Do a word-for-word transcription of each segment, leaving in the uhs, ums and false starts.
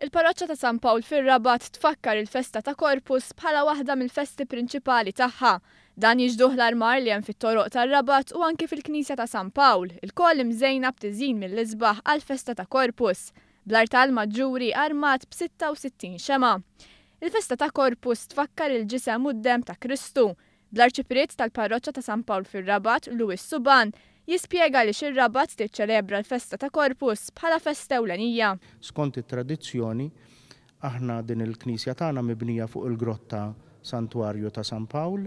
Il-Parroċċa ta' San Pawl fir-Rabat tfakkar il-festa ta' Corpus bħala waħda mill-festi prinċipali tagħha. Dan jixhduh l-armar li hemm fit-toroq tar-Rabat u anki fil-Knisja ta' San Pawl, ilkoll imżejna b'tiżjin mill-isbaħ għall-festa ta' Corpus, bl-artal maġġuri armat b'sitta u sittin xemgħa. Il-festa ta' Corpus tfakkar il-ġisem u d-demm ta' Kristu. Bl-arċipriet tal-Parroċċa ta' San Pawl fir-Rabat, Louis Suban, jispjega li xir-Rabat tiċċelebra l-festa ta' Corpus bħala festa ewlenija. Skont it-tradizzjoni, aħna din il-knisja tagħna mibnija fuq il-grotta Santwarju ta' San Pawl,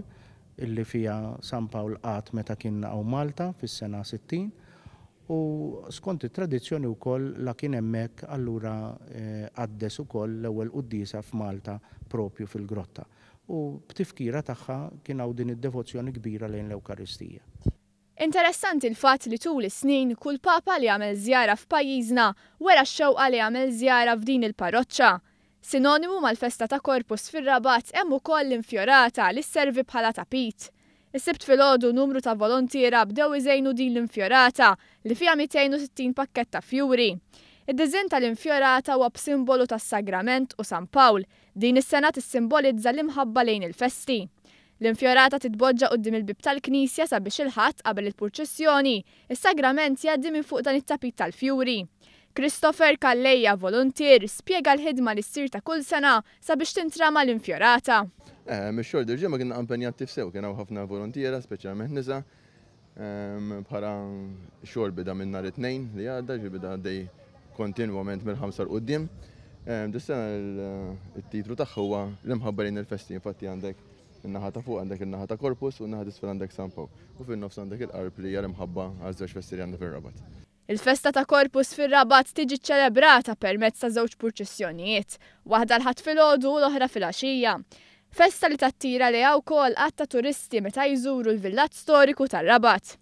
illi fija San Pawl qagħad meta kien hawn Malta fis-sena sittin, u skont it-tradizzjoni wkoll la kien hemmhekk allura, eh, qaddes ukoll l-ewwel quddiesa f'Malta propju fil-grotta. U b'tifkira tagħha kien hawn din id-devozzjoni kbira lejn l-Ewkaristija. Interessanti l-fatt li tul is-snin kull papa li għamel żjara f'pajjiżna wera x-xewqa li għamel żjara f'din il-parroċċa. Sinonimu mal-festa ta' Corpus fir-Rabat hemm ukoll l-infjorata li sservi bħala tapit. Is-Sibt filgħodu numru ta' volontiera bdew iżejnu din l-infjorata li fiha mitejn u sittin pakkett ta' fjuri. Id-diżinn tal-infjorata huwa b'simbolu tas-Sagrament u San Pawl. Din is-sena tissimbolizza l-imħabba lejn il-festi. L-infjorata titboġġa quddiem il-bib tal-Knisja sabiex il-Ħadd qabel il-purċissjoni, is-Sagrament jgħaddi minn fuq dan it-tapit tal-fjuri. Christopher Calleja, volontier, spjega l-ħidma li ssir ta' kull sena sabiex tintrama l-infjorata. Eh, mix-xogħol dil-ġimgħa kienna impenjati f'sew, kien hawn ħafna volontiera, speċjalment nisa. Ehm, bħala xogħol bida minn nhar it-Tnejn li għadda, ġi bida għaddej kontinwament mill-ħamsa 'l quddiem. Ehm, dis-sena il-titlu tagħha huwa l-imħabba lejn il-festi, infatti għandek in-naħa ta' fuq għandek in-naħa ta' Corpus u n-naħa t'isfel għandek San Pawl. U fin-nofs għandek il-qarb li hija l-imħabba għaż żewġ festi li għandna fir-Rabat. Il-festa ta' Corpus fir-Rabat tiġi ċċelebrata permezz ta' żewġ purċissjonijiet, waħda l-Ħadd filgħodu u l-oħra filgħaxija. Festa li tattira lejha wkoll għadd ta' turisti meta jżuru l-villaġġ storiku tar-Rabat.